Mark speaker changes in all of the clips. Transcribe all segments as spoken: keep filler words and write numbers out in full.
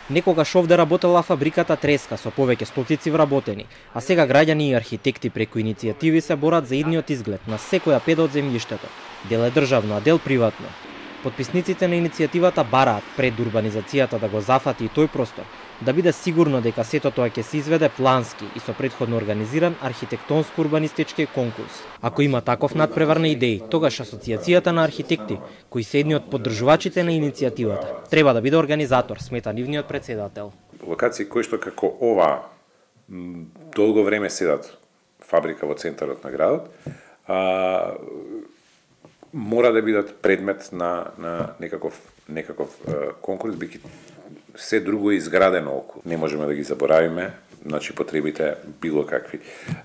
Speaker 1: Некогаш овде работела фабриката Треска со повеќе стотици вработени, а сега граѓани и архитекти преку иницијативи се борат за идниот изглед на секоја педа од земјиштето. Дел е државно, а дел приватно. Потписниците на иницијативата бараат пред урбанизацијата да го зафати и тој простор, да биде сигурно дека сето тоа ќе се изведе плански и со претходно организиран архитектонско-урбанистички конкурс. Ако има таков надпревар на идеи, тогаш Асоцијацијата на архитекти, кои се едни од поддржувачите на иницијативата, треба да биде организатор, смета нивниот претседател.
Speaker 2: Локации кои што како ова долго време седат фабрика во центарот на градот, а, мора да бидат предмет на, на некаков, некаков е, конкурс, бики се друго изградено околу. Не можеме да ги заборавиме, значи потребите било какви,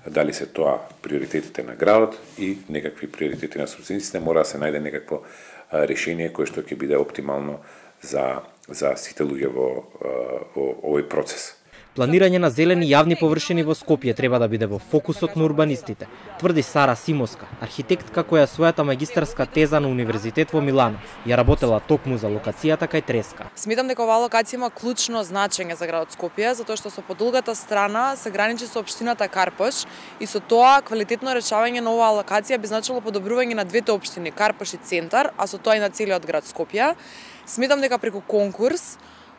Speaker 2: дали се тоа приоритетите на градот и некакви приоритети на собствениците, мора да се најде некакво е, решение кое што ќе биде оптимално за, за сите луѓе во, е, во овој процес.
Speaker 1: Планирање на зелени јавни површини во Скопје треба да биде во фокусот на урбанистите, тврди Сара Симоска, архитектка која својата магистарска теза на Универзитет во Милано ја работела токму за локацијата кај Треска.
Speaker 3: Сметам дека оваа локација има клучно значење за градот Скопје, затоа што со подолгата страна се граничи со општината Карпош и со тоа квалитетно решавање на оваа локација би значило подобрување на двете општини, Карпош и Центар, а со тоа и на целиот град Скопје. Сметам дека преку конкурс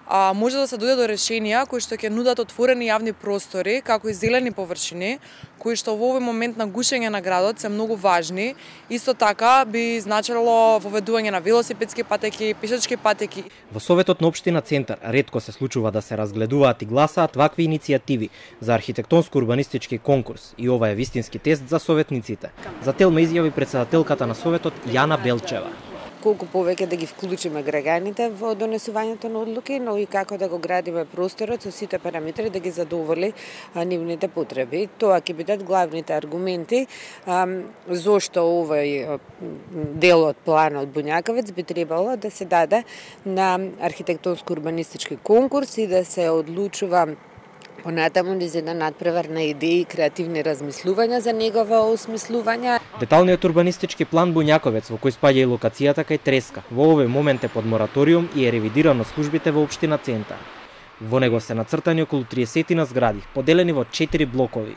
Speaker 3: А, може да се дојде до решенија кои што ќе нудат отворени јавни простори, како и зелени површини, кои што во овој момент на гушење на градот се многу важни. Исто така би значило воведување на велосипедски патеки, пешачки патеки.
Speaker 1: Во Советот на општина Центар ретко се случува да се разгледуваат и гласаат вакви иницијативи за архитектонско-урбанистички конкурс и ова е вистински тест за советниците. За Телма изјави претседателката на Советот Јана Белчева.
Speaker 4: Колку повеќе да ги вклучиме граѓаните во донесувањето на одлуки, но и како да го градиме просторот со сите параметри да ги задоволи а, нивните потреби. Тоа ќе бидат главните аргументи а, зошто овој дел од планот Буњаковец би требало да се даде на архитектонско-урбанистички конкурс и да се одлучува понатаму низ еден надпревар на идеи и креативни размислувања за негово осмислување.
Speaker 1: Деталниот урбанистички план Буњаковец, во кој спаѓа и локацијата кај Треска, во овој момент е под мораториум и е ревидиран од службите во општина Центар. Во него се нацртани околу триесет згради, поделени во четири блокови.